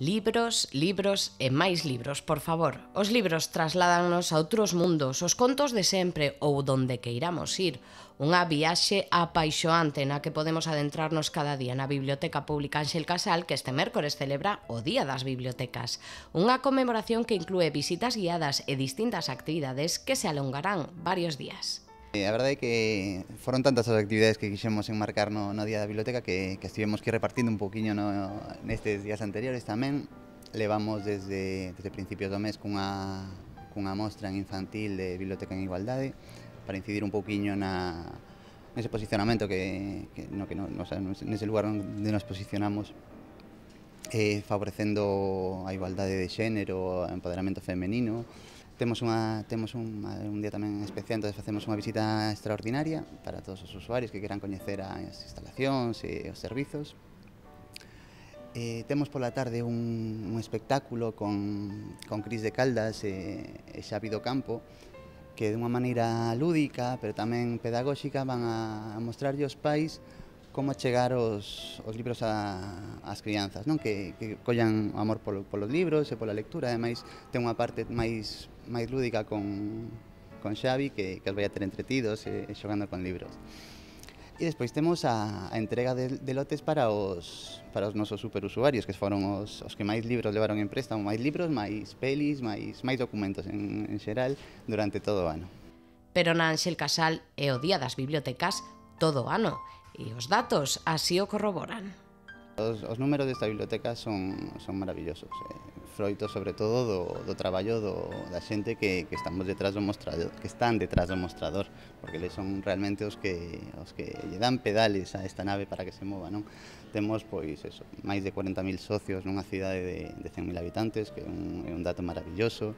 Libros, libros e máis libros, por favor. Os libros trasládannos a outros mundos, os contos de sempre ou donde queiramos ir. Unha viaxe apaixoante na que podemos adentrarnos cada día na Biblioteca Pública Ánxel Casal, que este mércores celebra o Día das Bibliotecas. Unha conmemoración que inclúe visitas guiadas e distintas actividades que se alongarán varios días. A verdade é que foron tantas as actividades que quixemos enmarcar no Día da Biblioteca que estivemos que repartindo un poquinho nestes días anteriores tamén. Levamos desde principios do mes cunha mostra en infantil de Biblioteca en Igualdade para incidir un poquinho nese posicionamento nese lugar onde nos posicionamos, favorecendo a igualdade de xénero, o empoderamento femenino. Temos un día tamén especial, entón facemos unha visita extraordinaria para todos os usuarios que queran coñecer as instalacións e os servizos. Temos pola tarde un espectáculo con Cris de Caldas e Xavi do Campo, que dunha maneira lúdica, pero tamén pedagóxica, van a mostrarlle aos pais como chegar os libros ás crianzas, non? Que collan amor polos libros e pola lectura. Ademais, ten unha parte máis lúdica con Xavi que os vai a ter entretidos e xogando con libros. E despois temos a entrega de lotes para os nosos superusuarios, que foron os que máis libros levaron en préstamo, máis libros, máis pelis, máis documentos en xeral durante todo o ano. Pero na Ánxel Casal é o Día das Bibliotecas todo o ano. E os datos así o corroboran. Os números desta biblioteca son maravillosos, froito sobre todo do traballo da xente que estamos detrás do mostrador, que están detrás do mostrador, porque eles son realmente os que lle dan pedales a esta nave para que se mova, non? Temos pois eso, máis de 40.000 socios nunha cidade de 100.000 habitantes, que é un dato maravilloso.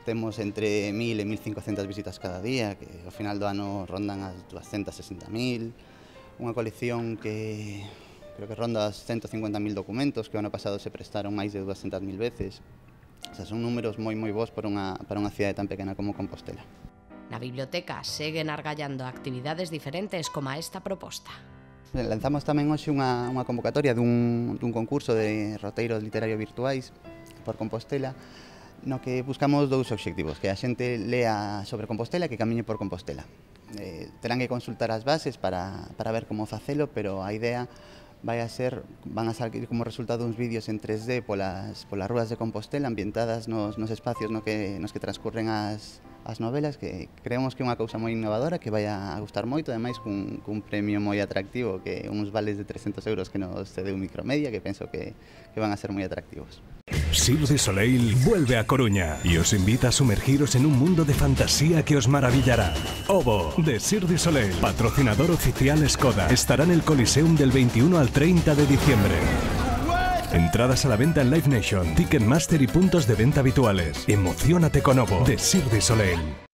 Temos entre 1.000 e 1.500 visitas cada día, que ao final do ano rondan as 260.000. Unha colección que creo que ronda as 150.000 documentos, que o ano pasado se prestaron máis de 200.000 veces. O sea, son números moi bons para unha cidade tan pequena como Compostela. Na biblioteca seguen argallando actividades diferentes como esta proposta. Lanzamos tamén hoxe unha convocatoria dun concurso de roteiros literarios virtuais por Compostela, no que buscamos dous obxectivos: que a xente lea sobre Compostela e que camiñe por Compostela. Terán que consultar as bases para ver como facelo, pero a idea van a salir como resultado uns vídeos en 3D polas rúas de Compostela, ambientadas nos espacios nos que transcurren as novelas, que creemos que é unha cousa moi innovadora, que vai a gustar moito, ademais cun premio moi atractivo, que uns vales de 300 euros que nos cedeu Micromedia, que penso que van a ser moi atractivos. Cirque du Soleil vuelve a Coruña y os invita a sumergiros en un mundo de fantasía que os maravillará. Ovo, de Cirque du Soleil, patrocinador oficial Skoda, estará en el Coliseum del 21 al 30 de diciembre. Entradas a la venta en Live Nation, Ticketmaster y puntos de venta habituales. Emociónate con Ovo, de Cirque du Soleil.